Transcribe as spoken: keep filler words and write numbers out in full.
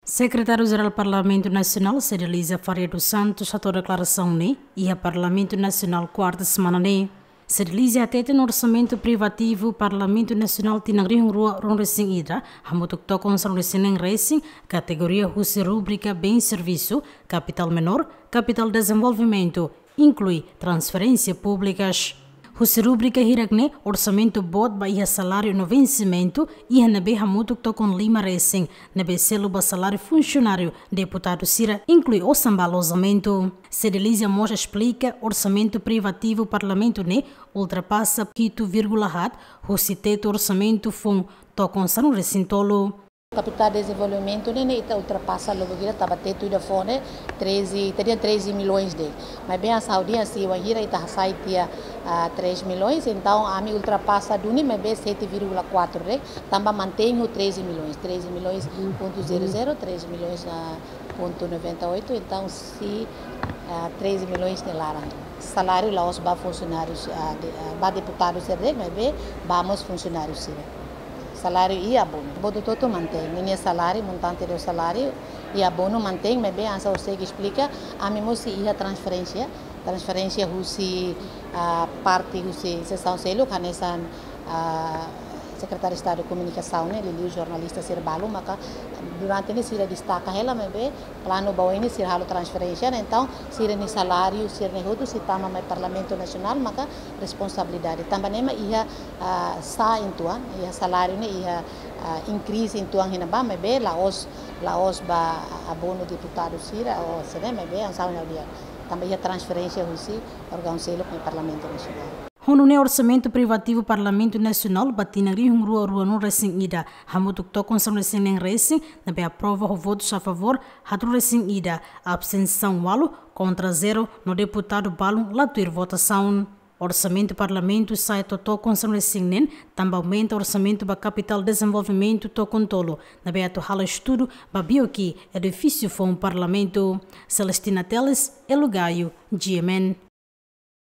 Sekretáriu-Jerál Parlamentu Nasionál, Cedelizia Faria dos Santos, hato'o deklarasaun ne'e iha Parlamentu Nasionál kuarta semana ne'e. Cedelizia hateten orsamentu privativu Parlamentu Nasionál tinan rihun rua ruanulu-resin-ida hamutuk tokon sanulu-resin-neen resin, kategoria husi rubrika bens servisu, kapitál menór, kapitál dezenvolvimentu, inklui transferénsia públikas. Husi rubrika hirak ne'e, orsamentu boot ba iha saláriu no vensimentu iha ne'ebé hamutuk tokon lima resin, ne'ebé selu ba saláriu funsionáriu, deputadu sira, inklui osan ba alojamentu. Cedelizia mós esplika orsamentu privativu Parlamentu ne'e ultrapasa hitu vírgula haat husi tetu orsamentu foun tokon sanulu-resin-tolu. Kapitál dezenvolvimentu ne'e, ne'e ita ultrapasa logo gira taba tetu ida foun ne'e treze, teria treze milhões de. Maibé hanesan ha'u dehan, se wainhira ita hasai tiha, ah, três milhões, entaun ami ultrapasa duni maibé sete vírgula quatro de, tanba mantein ho treze milhões, treze milhões ponto zero zero, treze milhões, ah, ponto noventa e oito, entaun se, ah, treze milhões ne'e laran. Saláriu la'ós ba funsionárius, ah, de, ah, ba deputadu sira de'it, maibé ba mós funsionáriu sira. Saláriu i abonu. Boot hotu-hotu mantein. Ninia saláriu, montante de saláriu i abonu mantein, maibé hanesan ha'u sei esplika, ami mós sei iha transferénsia. Transferénsia husi, ah, parte husi sesaun seluk, hanesan, ah, Sekretáriu Estadu Komunikasaun ne'e, liuliu jornalista sira balu, maka durante ne'e sira destaka hela, maibé planu ba oin ne'e sira halo transferénsia, ne'e, entaun sira-nia saláriu, sira-ne'e hotu sei tama mai Parlamentu Nasionál, maka responsabilidade. Tanba ne'e mak iha, ah, sa'e uitoan, iha saláriu ne'e, iha, ah, inkrize uitoan iha ne'ebá, maibé la'ós, la'ós ba abonu deputadu sira, ou sira, maibé hanesan ha'u dehan. Tanba iha transferénsia husi órgaun seluk mai Parlamentu Nasionál. Ho nune'e orsamentu privativu Parlamentu Nasionál ba tinan rihun rua ruanulu-resin-ida hamutuk tokon sanulu-resin-neen resin, ne'ebé aprova ho votus a favór haatnulu-resin-ida, abstensaun ualu, kontra zero, no deputadu balun la tuir votasaun. Orsamentu Parlamentu sa'e to'o tokon sanulu-resin-neen, tanba aumenta orsamentu ba kapitál dezenvolvimentu tokon tolu, ne'ebé atu halo estudu ba BOQ, edifísiu foun Parlamentu. Celestina Teles, Elo Gaio, G M N.